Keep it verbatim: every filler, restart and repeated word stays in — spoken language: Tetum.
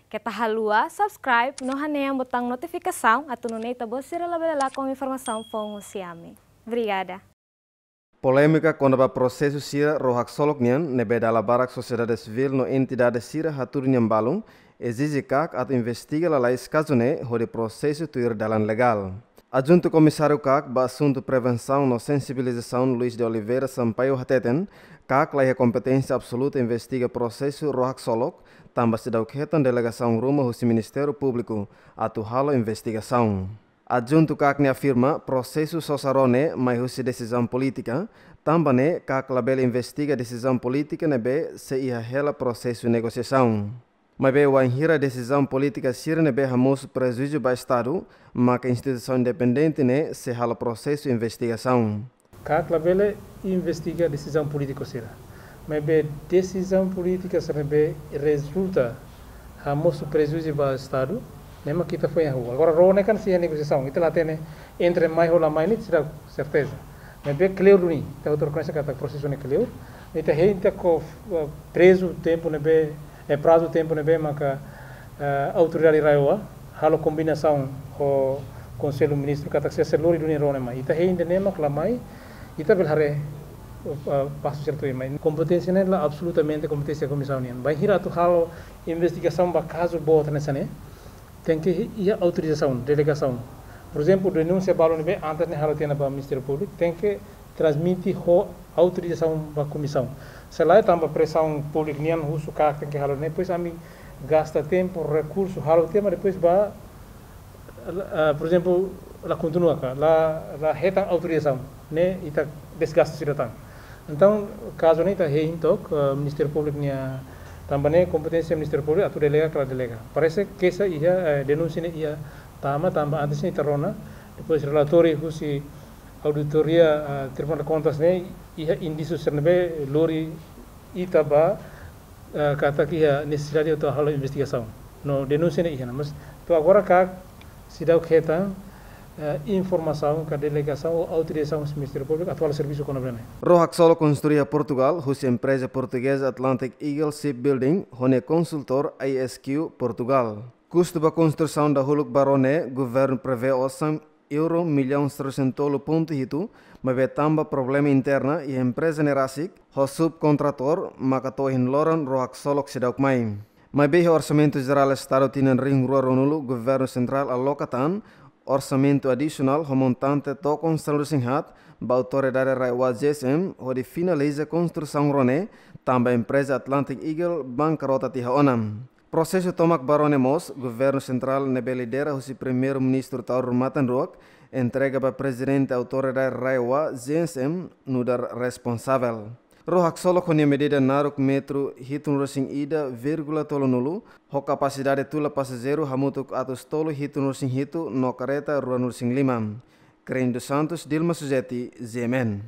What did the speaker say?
Keta haluha subscribe no hanehan butaun notifikasaun atu nune'e ita-boot sira labele lakon informasaun foun husi ami. Obrigada. Polémika kona-ba prosesu sira ró haksolok nian ne'ebé dala barak sosiedade sivíl no entidade sira hatudu nian balun ezije KAK atu investiga lalais kazu ne'e hodi prosesu tuir dalan legál. Adjuntu Komisáriu KAK ba asuntu prevensaun no sensibilizasaun Luis de Oliveira Sampaio hateten, KAK la iha kompeténsia absoluta investiga prosesu ró haksolok, tanba seidauk hetan delegasaun ruma husi Ministériu Públiku atu halo investigasaun. Adjuntu KAK ne'e afirma prosesu sosa ró ne'e mai husi desizaun polítika, tanba ne'e KAK labele investiga desizaun polítika ne'ebé sei iha hela prosesu negosiasaun. Maibé wainhira desizaun polítika sira ne'ebé hamosu prejuízu ba Estadu, maka instituisaun independente ne'e sei halo prosesu investigasaun. KAK labele investiga desizaun polítiku sira. Maibé desizaun polítika sira ne'ebé rezulta hamosu prejuízu ba Estadu, ne'e mak ita foin hahú. Agora, ró ne'e kan sei iha negosiasaun, ita la hatene entre mai ho la mai ne'e seidauk serteza. Maibé kleur duni, ita hotu rekoñese katak prosesu ne'e kleur. Ita hein ita ko, eh, prezu tempu ne'ebé, eh, prazu tempu ne'ebé maka, eh, autoridade RAEOA halo kombinasaun ho Konsellu Ministru katak sei lori duni ró ne'e mai. Ita hein ida-ne'e mak la mai, ita bele haree, eh, pasu sertu mai. Kompeténsia ne'e la absolutamente kompeténsia komisaun nian. Bainhira atu halo investigasaun ba kazu boot hanesan ne'e, tenke iha autorizasaun, delegasaun. Por ezemplu, denúnsia balu ne'ebé antes ne'e halo tiha ona ba Ministériu Públiku, tenke transmite ho autorizasaun ba komisaun. Se lae tanba presaun públiku nian husu KAK tenke halo ne'e, depois ami gasta tempu, rekursu, halo tiha, mas depois ba, ah, por ezemplu, la kontinua ka, la, la hetan autorizasaun, ne'e ita desgasta sira tan. Entaun, kazu ne'e ita hein took, eh, Ministériu Públiku nia, tanba ne'e kompeténsia Ministériu Públiku atu delega ka la delega. Parese keixa iha, eh, denúnsia ne'e iha tama, tanba antes ne'e ita rona, depois relatóriu husi auditoria, eh, Tribunál de Contas ne'e iha indísiu sira ne'ebé lori ita ba, eh, katak iha nesesidade atu halo investigasaun. No denúnsia ne'e iha ona, mas to'o agora KAK seidauk hetan, eh, informasaun ka delegasaun ou autorizasaun husi Ministériu Públiku atu halo servisu kona-ba ne'e. Ró haksolok konstrui iha Portugal husi empreza portugeza Atlantic Eagle Shipbuilding ho nia konsultór I S Q Portugal. Kustu ba konstrusaun dahuluk ba ró ne'e, governu prevee osan euro millaun sanulu-resin-tolu pontu hitu, maibé tanba problema interna iha empreza ne'e rasik, ho subkontratór, maka to'o ohin loron ró haksolok seidauk mai. Maibé iha Orsamentu Jerál Estadu tinan rihun rua ruanulu, Governu Sentrál aloka tan orsamentu adisionál ho montante tokon sanulu-resin-haat ba Autoridade RAEOA Z S M hodi finaliza konstrusaun ró ne'e, tanba empreza Atlantic Eagle bankarota tiha ona. Prosesu tomak ba ró ne'e mós, Governu Sentrál ne'ebé lidera husi Primeiru-Ministru Taur Matan Ruak, entrega ba Prezidente Autoridade RAEOA Z S M nu'udar responsavel. Ró haksolok ho nia medida naruk metru hitunulu-resin-ida vírgula tolunulu, ho kapasidade tula pasajeiru hamutuk atus tolu hitunulu-resin-hitu no kareta ruanulu-resin-lima. Crane dos Santos, Dilma Suzeti, G M N.